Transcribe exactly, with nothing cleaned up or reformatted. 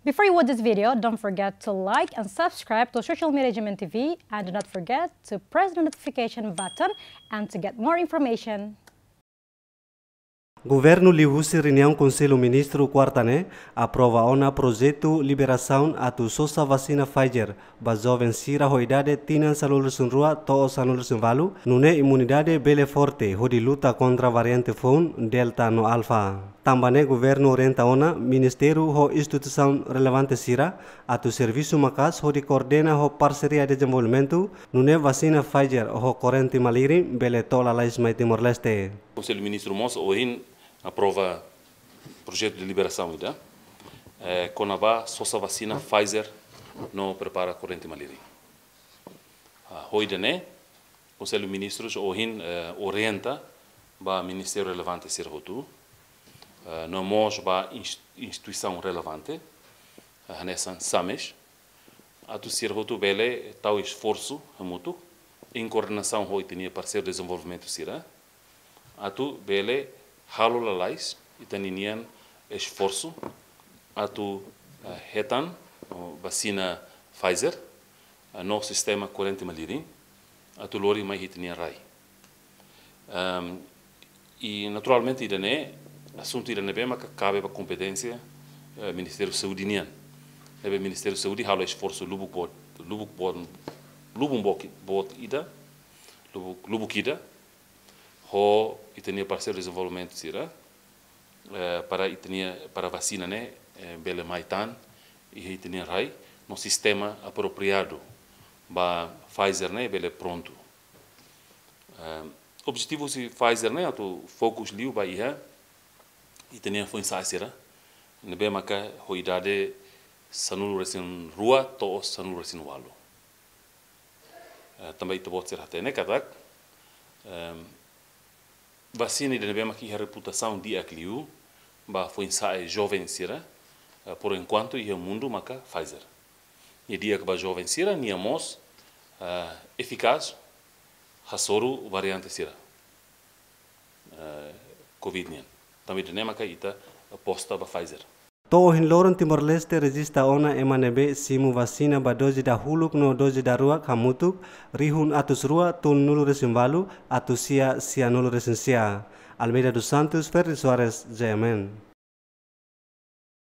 Before you watch this video, don't forget to like and subscribe to social media G M N T V, and do not forget to press the notification button and to get more information. Governu liuhusi reuniaun Konsellu Ministru kuarta ne'e aprova ona projetu liberasaun atu sosa vasina Pfizer ba joven sira ho idade tinan sanulu-resin-rua to'o sanulu-resin-ualu, nune'e imunidade bele forte hodi luta kontra variante foun Delta no Alfa. Tanba ne'e governu orienta ona ministériu ho instituisaun relevante sira atu servisu maka'as hodi koordena ho parseria dezenvolvimentu, nune'e vasina Pfizer ho korrente malirin bele to'o lalais mai Timor-Leste. Konsellu Ministru mós ohin aprova projetu de liberasaun ida, eh, kona-ba sosa vasina Pfizer no prepara korrente malirin. Ah, ho ida-ne'e, Konsellu Ministrus ohin, eh, orienta ba ministériu relevante sira hotu, eh, no mós ba ins-, instituisaun relevante, eh, hanesan SAMES, atu sira hotu bele tau esforsu hamutuk, em koordenasaun ho ita-nia parseiru dezenvolvimentu sira, atu bele halo lalais ita-ninian esforsu atu, eh, hetan, oh, vasina Pfizer, eh, no sistema korrente malirin, atu lori mai ita-nia rai. Ehm, i naturalmente ida-ne'e, asuntu ida ne'ebé maka kabe ba kompeténsia, eh, Ministériu Saúde nian. Ne'ebé Ministériu Saúde halo esforsu lubuk boot, lubuk boot, lubuk boot, boot ida, lubuk, lubuk ida, ho ita-nia parseiru dezenvolvimentu sira, eh, para ita-nia, para vasina ne'e, eh, bele mai tan iha ita-nia rai, no sistema apropriadu ba Pfizer ne'e bele prontu. Eh, objetivu husi Pfizer ne'e atu fokus liu ba iha ita-nia foin-sa'e sira ne'ebé maka ho idade sanulu-resin-rua to'o sanulu-resin-ualu. Eh, tanba ita-boot sira hatene katak, ehm, vasina ida ne'ebé maka iha reputasaun di'ak liu ba foin-sa'e joven sira, eh, por enkuantu iha mundu maka Pfizer. Nia di'ak ba joven sira, nia mós, eh, efikás hasoru variante sira, eh, Covid nian. Tanba ida-ne'e maka ita aposta ba Pfizer. To'o ohin loron Timor-Leste rejista ona ema ne'ebé simu vasina ba doze dahuluk no doze daruak hamutuk rihun atus rua tolunulu-resin-ualu atus sia sianulu-resin-sia. Almeida dos Santos, Ferdi Soares, G M N.